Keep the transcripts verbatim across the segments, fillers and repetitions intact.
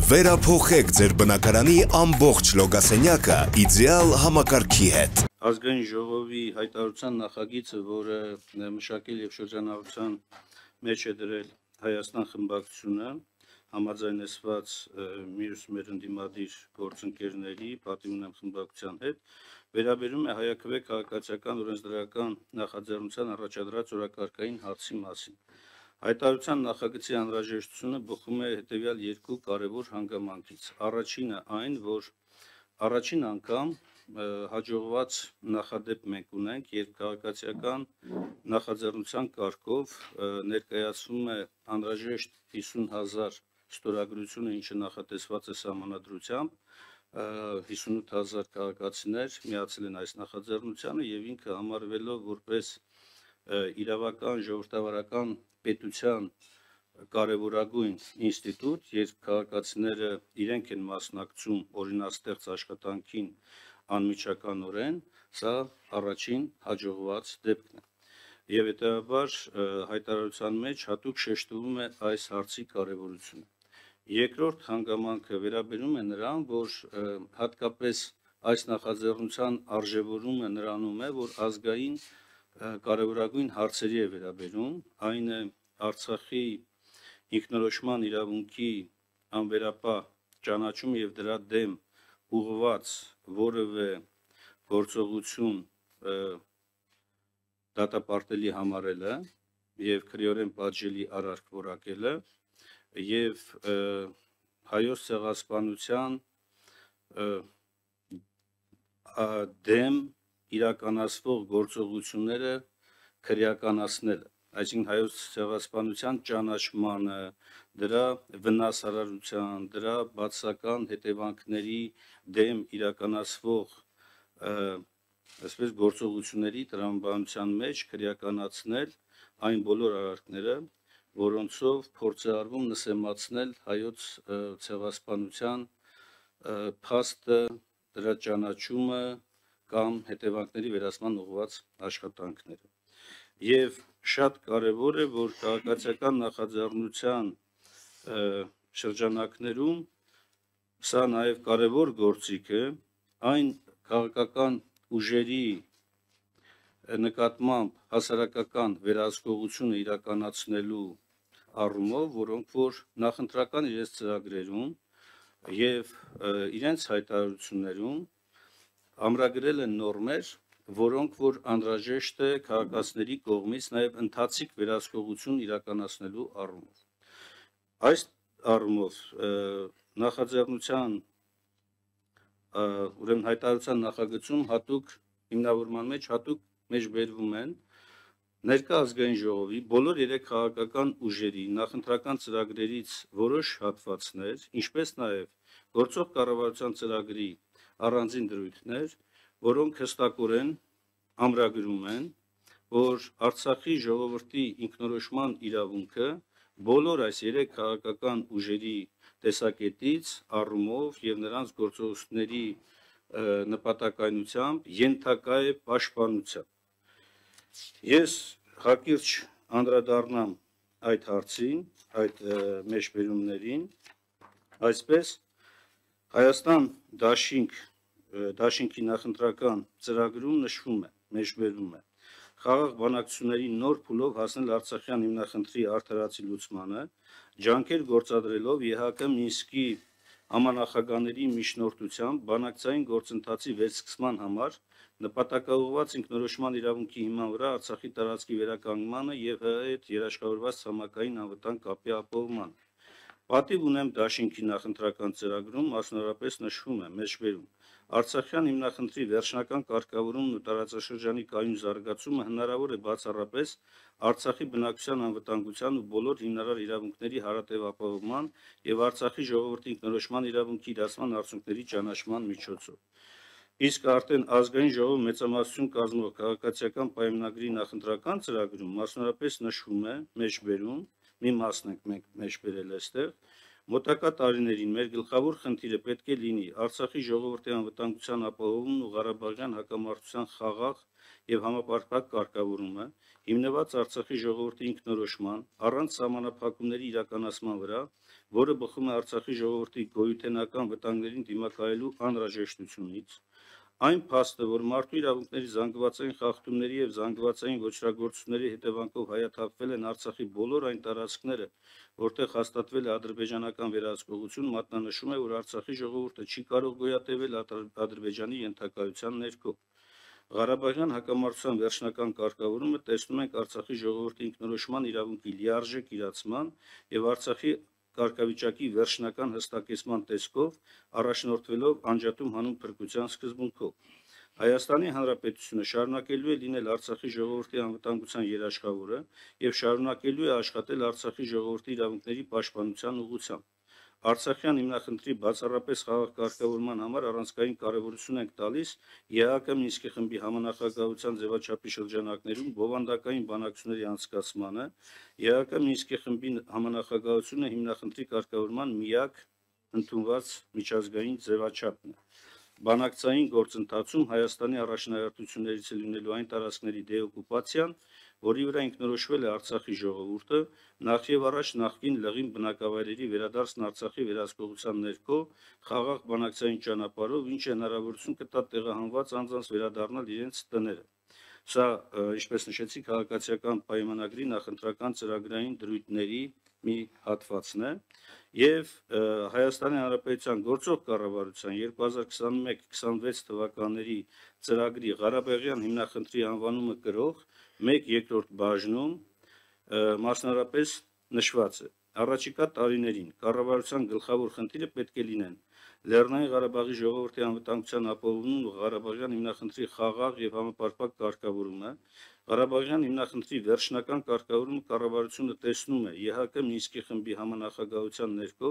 Վերափոխեք ձեր բնակարանի ամբողջ լոգասենյակը իդեալ համակարգի հետ։ Ազգային ժողովի հայտարարության նախագիծը, որը մշակել եւ շրջանառության մեջ է դրել Հայաստան խմբակցությունը, համաձայնեցված մյուս մեր ընդդիմադիր գործընկերների պատիվ ունեմ խմբակցության հետ, վերաբերում է հայաքվե քաղաքացիական օրենսդրական նախաձեռնության առաջադրած օրակարգային հարցի մասին։ Հայտարարության նախագծի անհրաժեշտությունը բխում է հետևյալ երկու կարևոր հանգամանքից։ Առաջինը այն, որ առաջին անգամ հաջողված նախադեպ մենք ունենք, երբ քաղաքացիական նախաձեռնության կարգով ներկայացվում է անհրաժեշտ հիսուն հազար ստորագրությունը, ինչը նախատեսված է սահմանադրությամբ, հիսունութ հազար քաղաքացիներ միացել են այս նախաձեռնությանը եւ ինքը համարվելով որպես իրավական ժողովրդավարական պետության կարևորագույն ինստիտուտ, երբ քաղաքացիները իրենք են մասնակցում օրինաստեղծ աշխատանքին անմիջականորեն, սա առաջին հաջողված դեպքն է։ Եվ հետևաբար հայտարարության մեջ հատուկ շեշտվում է այս հարցի կարևորությունը։ Երկրորդ հանգամանքը վերաբերում է նրան, որ հատկապես այս նախաձեռնության արժևորումը նրանում է, որ ազգային կարևորագույն հարցերի է վերաբերում, այն է Արցախի ինքնորոշման իրավունքի անվերապահ ճանաչում եւ դրա դեմ ուղղված որևէ գործողություն դատապարտելի համարելը եւ քրեորեն պատժելի արարք որակելը եւ հայոց ցեղասպանության դեմ իրականացվող գործողությունները քրեականացնելը, այսինքն հայոց ցեղասպանության ճանաչմանը, դրա վնասարարության, դրա բացասական հետևանքների դեմ իրականացվող այսպես գործողությունների տրամաբանության մեջ քրեականացնել այն բոլոր արարքները, որոնցով փորձ է արվում նսեմացնել հայոց ցեղասպանության փաստը, դրա ճանաչումը կամ հետևանքների վերացման ուղղված աշխատանքները։ Եվ շատ կարևոր է, որ քաղաքացիական նախաձեռնության շրջանակներում սա նաև կարևոր գործիք է այն քաղաքական ուժերի նկատմամբ հասարակական վերահսկողությունը իրականացնելու առումով, որոնք որ նախընտրական իրենց ծրագրերում եւ իրենց հայտարարություններում ամրագրել են նորմեր, որոնք որ անհրաժեշտ է քաղաքացիների կողմից նաև ընթացիկ վերահսկողություն իրականացնելու առումով։ Այս առումով նախաձեռնության ուրեմն հայտարարության նախագծում հատուկ հիմնավորման մեջ հատուկ մեջբերվում են ներկա ազգային ժողովի բոլոր երեք քաղաքական ուժերի նախընտրական ծրագրերից որոշ հատվածներ, ինչպես նաև գործող կառավարության ծրագրի առանձին դրույթներ, որոնք հստակորեն ամրագրում են, որ Արցախի ժողովրդի ինքնորոշման իրավունքը բոլոր այս երեք քաղաքական ուժերի տեսակետից, առումով եւ նրանց գործողությունների նպատակայնությամբ ենթակա է պաշտպանության։ Ես հակիրճ անդրադառնամ այդ հարցին, այդ մեջբերումներին, այսպես Հայաստան դաշինք դաշինքի նախընտրական ծրագրում նշվում է, մեջբերվում է խաղաղ բանակցությունների նոր փուլով հասնել Արցախյան հիմնախնդրի արդարացի լուծմանը, ջանքեր գործադրելով ԵՀԿ Մինսկի համանախագահների միջնորդությամբ բանակցային գործընթացի վերսկսման համար նպատակաուղղված ինքնորոշման իրավունքի հիման վրա Արցախի տարածքի վերականգնմանը եւ ՀՀ հետ երաշխավորված ցամաքային անվտանգ կապի ապահովմանը։ Պատիվ ունեմ դաշինքի նախընտրական ծրագրում մասնավորապես նշվում է մեջբերում Արցախյան հիմնախնդրի վերջնական կարգավորումն ու տարածաշրջանի կայուն զարգացումը հնարավոր է բացառապես Արցախի բնակչության անվտանգության ու բոլոր հիմնարար իրավունքների հարատև ապահովման եւ Արցախի ժողովրդի ինքնորոշման իրավունքի իրացման արդյունքների ճանաչման միջոցով։ Իսկ արդեն ազգային ժողով մեծամասնություն կազմող քաղաքացիական պայմանագրի նախընտրական ծրագրում մասնավորապես նշվում է մեջբերում մի մասն ենք մենք մեջբերել այստեղ մոտակա տարիներին մեր գլխավոր խնդիրը պետք է լինի Արցախի ժողովրդի անվտանգության ապահովումն ու Ղարաբաղյան հակամարտության խաղաղ եւ համապարփակ կարգավորումը, հիմնված Արցախի ժողովրդի ինքնորոշման, առանց սահմանափակումների իրականացման վրա, որը բխում է Արցախի ժողովրդի գոյութենական վտանգներին դիմակայելու անհրաժեշտությունից, այն փաստը, որ մարդու իրավունքների զանգվածային խախտումների եւ զանգվածային ոչրագործությունների հետևանքով հայաթափվել են Արցախի բոլոր այն տարածքները, որտեղ հաստատվել է ադրբեջանական վերահսկողություն, մատնանշում է, որ Արցախի ժողովուրդը չի կարող գոյատևել Ադրբեջանի ենթակայության ներքո։ Ղարաբաղյան հակամարտության վերջնական կարգավորումը տեսնում ենք Արցախի ժողովրդի ինքնորոշման իրավունքի լիարժեք իրացման եւ Արցախի կարգավիճակի վերջնական հստակեցման տեսքով առաջնորդվելով անջատում հանուն փրկության սկզբունքով։ Հայաստանի Հանրապետությունը շարունակելու է լինել Արցախի ժողովրդի անվտանգության երաշխավորը եւ շարունակելու է աշխատել Արցախի ժողովրդի իրավունքների պաշտպանության ուղղությամբ։ Արցախյան հիմնախնդրի բացառապես խաղաղ կարգավորման համար առանցքային կարևորություն ենք տալիս ԵԱՀԿ Մինսկի խմբի համանախագահության ձևաչափի շրջանակներում բովանդակային բանակցությունների անցկացմանը, ԵԱՀԿ Մինսկի խմբի համանախագահությունը հիմնախնդրի կարգավորման միակ ընդունված միջազգային ձևաչափն է։ Բանակցային գործընթացում Հայաստանի առաջնահերթություններից է լինելու այն տարածքների դեօկուպացիան, որի վրա ինքնորոշվել է Արցախի ժողովուրդը, նախ եւ առաջ նախկին լղին բնակավայրերի վերադարձն Արցախի վերահսկողության ներքո խաղաղ բանակցային ճանապարհով, ինչը հնարավորություն կտա տեղահանված անձանց վերադառնալ իրենց տները։ Սա, ինչպես նշեցի, քաղաքացիական պայմանագրի նախընտրական ծրագրային դրույթների մի հատվածն է եւ Հայաստանի Հանրապետության գործող կառավարության երկու հազար քսաներեք քսանվեց թվականների ծրագրի Ղարաբաղյան հիմնախնդրի անվանումը կրող մեկ երկրորդ բաժնում մասնարարպես նշված է. Առաջիկա տարիներին կառավարության գլխավոր խնդիրը պետք է լինեն Լեռնային Ղարաբաղի ժողովրդի անվտանգության ապահովումն ու Ղարաբաղյան հիմնախնդրի խաղաղ եւ համապարփակ կարգավորումը, Ղարաբաղյան հիմնախնդրի վերջնական կարգավորումը կառավարությունը տեսնում է ԵԱՀԿ Մինսկի խմբի համանախագահության ներքո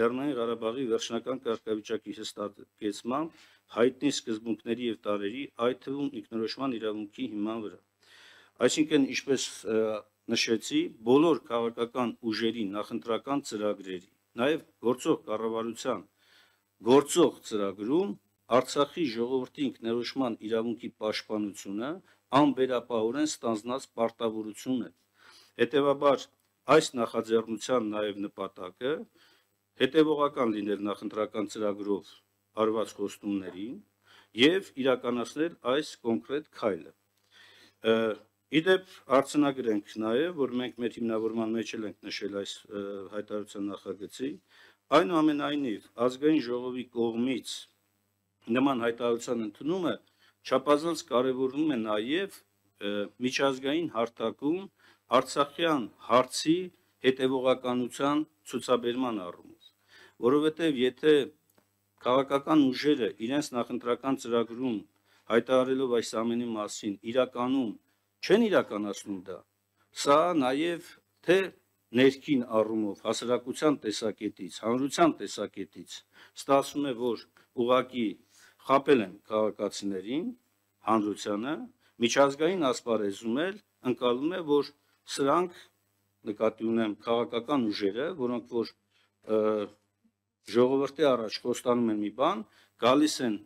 Լեռնային Ղարաբաղի վերջնական կարգավիճակի հստակեցմամբ հայտնի սկզբունքների եւ տարրերի, այդ թվում ինքնորոշման իրավունքի հիման վրա։ Այսինքն, ինչպես նշեցի, բոլոր քաղաքական ուժերի նախընտրական ծրագրերի, նաեւ գործող կառավարության գործող ծրագրում Արցախի ժողովրդի ինքնորոշման իրավունքի պաշտպանությունը անվերապահորեն ստանձնած պարտավորություն է։ Հետևաբար, այս նախաձեռնության նաեւ նպատակը հետևողական լինել նախընտրական ծրագրով արված խոստումներին եւ իրականացնել այս կոնկրետ քայլը։ Իդեպ արձանագրենք նաեւ, որ մենք մեր հիմնավորման մեջ էլ ենք նշել այս հայտարարության նախագծի, այնուամենայնիվ ազգային ժողովի կողմից նման հայտարարության ընդունումը չափազանց կարևորվում է նաեւ միջազգային հարթակում Արցախյան հարցի հետևողականության ցուցաբերման առումով, որովհետեւ եթե քաղաքական ուժերը իրենց նախընտրական ծրագրում հայտարարելով այս ամենի մասին իրականում չեն իրականացնում դա, սա նաև թե ներքին առումով հասարակության տեսակետից, հանրության տեսակետից ստացվում է, որ ուղղակի խաբել են քաղաքացիներին, հանրությանը, միջազգային ասպարեզում էլ ընկալում է, որ սրանք նկատի ունեմ քաղաքական ուժերը, որոնք որ ժողովրդի առաջ խոստանում են մի բան, գալիս են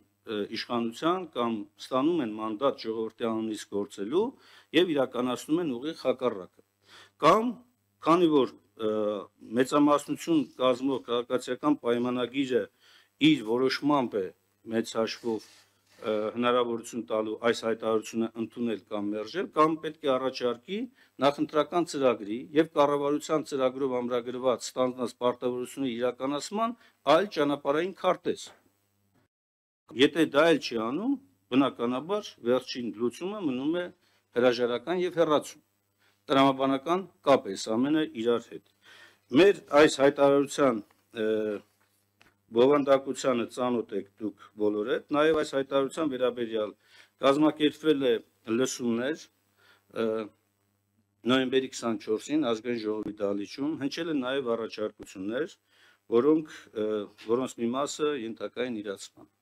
իշխանության կամ ստանում են մանդատ ժողովրդի անունից գործելու եւ իրականացնում են ուղիղ հակառակը։ Կամ քանի որ մեծամասնություն կազմող քաղաքացիական պայմանագիրը իր որոշմամբ է մեծ հաշվով հնարավորություն տալու այս հայտարարությունը ընդունել կամ մերժել, կամ պետք է առաջարկի նախընտրական ծրագրի եւ կառավարության ծրագրով ամրագրված ստանձնած պարտավորությունների իրականացման այլ ճանապարհային քարտեզ։ Եթե դա էլ չի անում, բնականաբար վերջին լուծումը մնում է հրաժարական եւ հեռացում։ Տրամաբանական կապ է ամենը իրար հետ։ Մեր այս հայտարարության բովանդակությանը ծանոթ եք դուք բոլորդ, նաեւ այս հայտարարության վերաբերյալ կազմակերպվել է լսումներ նոյեմբերի քսանչորսին ազգային ժողովի դահլիճում, հնչել են նաեւ առաջարկություններ, որոնք որոնց մի մասը ենթակա են իրացման։